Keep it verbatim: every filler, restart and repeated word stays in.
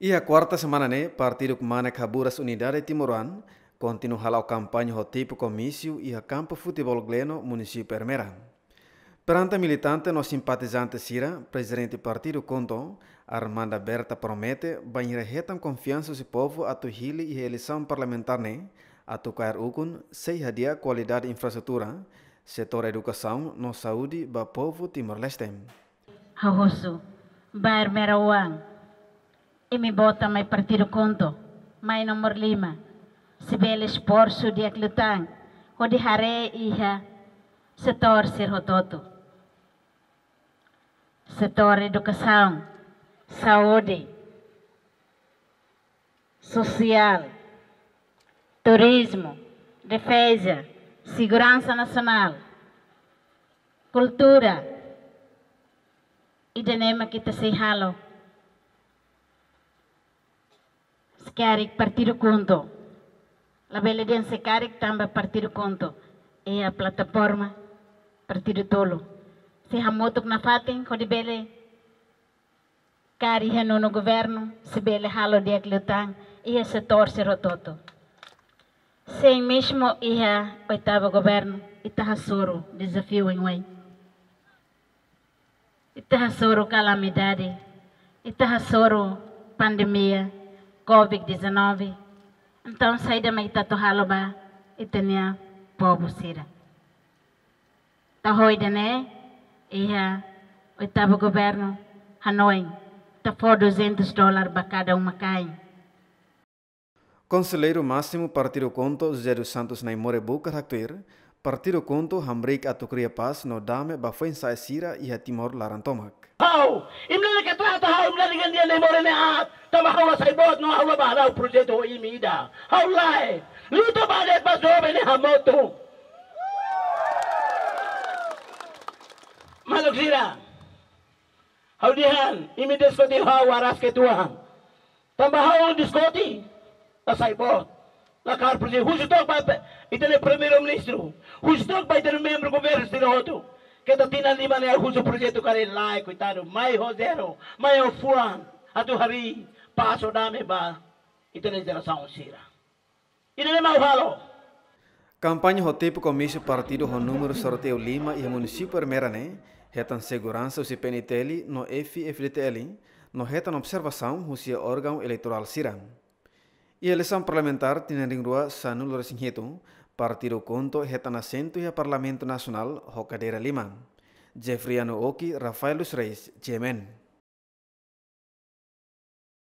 Iha kuarta semana ne'e, partidu Kmanek Haburas Unidade Timoroan kontinua hala'o kampaña ho tipu komísiu iha kampu futeból Gleno, munisípiu Ermera. Perante militante no simpatizante sira, Prezidente Partidu KHUNTO, Armanda Berta, promete bainhira hetan konfiansa husi povu atu hili iha eleisaun parlamentár ne'e, atu kaer ukun sei hadi'a kualidade infraestrutura, setór edukasaun no saúde ba povu Timor-Leste. Ha'u husu ba Ermera oan, imi vota mai Partidu KHUNTO, mai númeru lima, sei bele esforsu di'ak liután hodi haree iha setór sira hotu-hotu. Setór edukasaun, saúde, sosiál, turizmu, defeza, seguransa nasionál, kultura, ida-ne'e mak ita sei halo se karik Partidu KHUNTO. Labele dehan se karik tanba Partidu KHUNTO iha plataforma partidu tolu. Sei hamutuk nafatin hodi bele kaer iha nonu governu, sei bele halo di'ak liután iha setór sira hotu-hotu. Sein mezmu iha oitavu governu, ita hasoru dezafiu oioin. Ita hasoru kalamidade, ita hasoru pandemia covid dezanove. Entaun, saida mak ita atu halo ba ita-nia povu sira? Taho ida-ne'e, iha oitavu governu hanoin, ita fó duzentos dólar ba kada uma-kain. Konselleiru Másimu Partidu KHUNTO, José dos Santos Naimore Bucar, haktuir, Partidu KHUNTO hamriik atu kria pás no dame ba foin-sa'e sira iha Timor laran tomak. Ha'u, imi la ke trata ha'u, imi la gandia Naimore ne'e aat, tanba ha'u la sai boot no ha'u la bá hala'o projetu ho imi ida. Ha'u lae, luta ba de'it ba joven ne'e hamutuk. Maluk sira, ha'u dehan, imi diskute ha'u aras ke tuan. Tanba ha'u diskute, la sai boot. La kaer projetu, husu took ba pe-, ita-nia Primeiru-Ministru. Husu took ba ita-nia membru governu sira hotu. Keta tinan lima ne'e husu projetu karik lae, koitadu. Mai ho zero, mai ho fuan. Atu harii pás no dame ba ita-nia jerasaun sira. Ida-ne'e mak ha'u halo. Kampaña ho tipu komísiu partidu ho númeru sorteiu lima iha munisípiu Ermera ne'e, hetan seguransa husi P N T L no F-FDTL, no hetan observasaun husi órgaun eleitorál sira. Iha eleisaun parlamentár tinan rihun rua sanulu resin hitu, Partidu KHUNTO hetan asentu iha Parlamentu Nasionál ho kadeira lima. Jeffriano Oki, Rafael dos Reis, G M N.